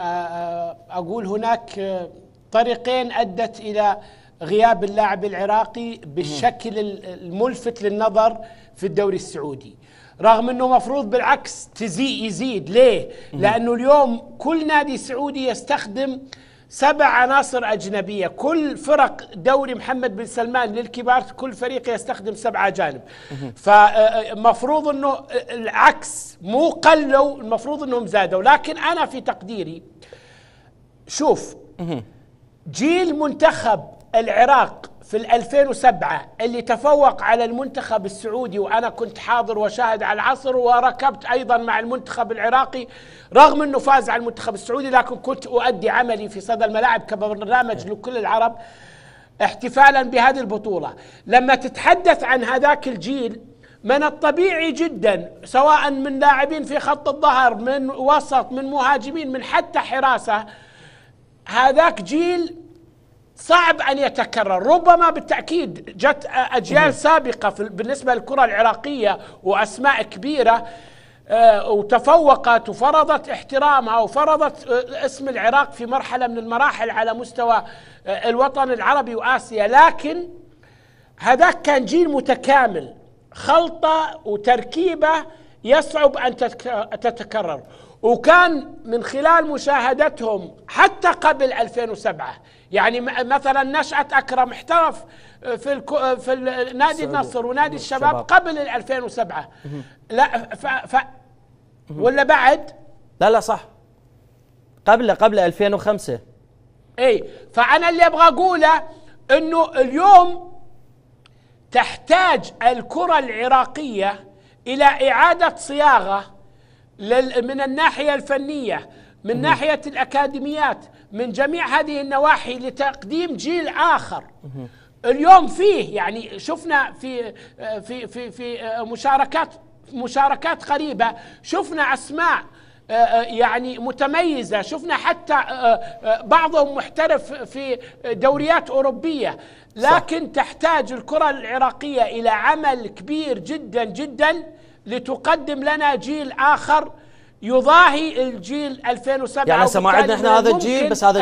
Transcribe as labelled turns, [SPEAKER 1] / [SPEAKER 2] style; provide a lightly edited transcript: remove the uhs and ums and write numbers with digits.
[SPEAKER 1] أقول هناك طريقين أدت إلى غياب اللاعب العراقي بالشكل الملفت للنظر في الدوري السعودي، رغم أنه مفروض بالعكس يزيد. ليه؟ لأنه اليوم كل نادي سعودي يستخدم 7 عناصر أجنبية. كل فرق دوري محمد بن سلمان للكبار كل فريق يستخدم 7 أجانب. فمفروض أنه العكس، مو قلوا، المفروض أنهم زادوا. لكن أنا في تقديري شوف، جيل منتخب العراق في 2007 اللي تفوق على المنتخب السعودي، وأنا كنت حاضر وشاهد على العصر وركبت أيضا مع المنتخب العراقي، رغم أنه فاز على المنتخب السعودي، لكن كنت أؤدي عملي في صدى الملاعب كبرنامج لكل العرب احتفالا بهذه البطولة. لما تتحدث عن هذاك الجيل، من الطبيعي جدا سواء من لاعبين في خط الظهر، من وسط، من مهاجمين، من حتى حراسة، هذاك جيل صعب أن يتكرر. ربما بالتأكيد جت أجيال سابقة بالنسبة للكرة العراقية وأسماء كبيرة وتفوقت وفرضت احترامها وفرضت اسم العراق في مرحلة من المراحل على مستوى الوطن العربي وآسيا، لكن هذاك كان جيل متكامل، خلطة وتركيبة يصعب أن تتكرر. وكان من خلال مشاهدتهم حتى قبل 2007، يعني مثلا نشأة أكرم احترف في نادي النصر ونادي الشباب قبل 2007. لا ولا بعد؟
[SPEAKER 2] لا صح، قبل 2005.
[SPEAKER 1] اي، فأنا اللي ابغى اقوله انه اليوم تحتاج الكرة العراقية إلى إعادة صياغة من الناحية الفنية، من ناحية الأكاديميات، من جميع هذه النواحي، لتقديم جيل آخر. اليوم فيه، يعني شفنا في مشاركات قريبة، شفنا أسماء يعني متميزة، شفنا حتى بعضهم محترف في دوريات أوروبية. لكن تحتاج الكرة العراقية إلى عمل كبير جدا جدا لتقدم لنا جيل آخر يضاهي الجيل 2007.
[SPEAKER 2] يعني هسه ما عندنا احنا هذا الجيل، بس هذا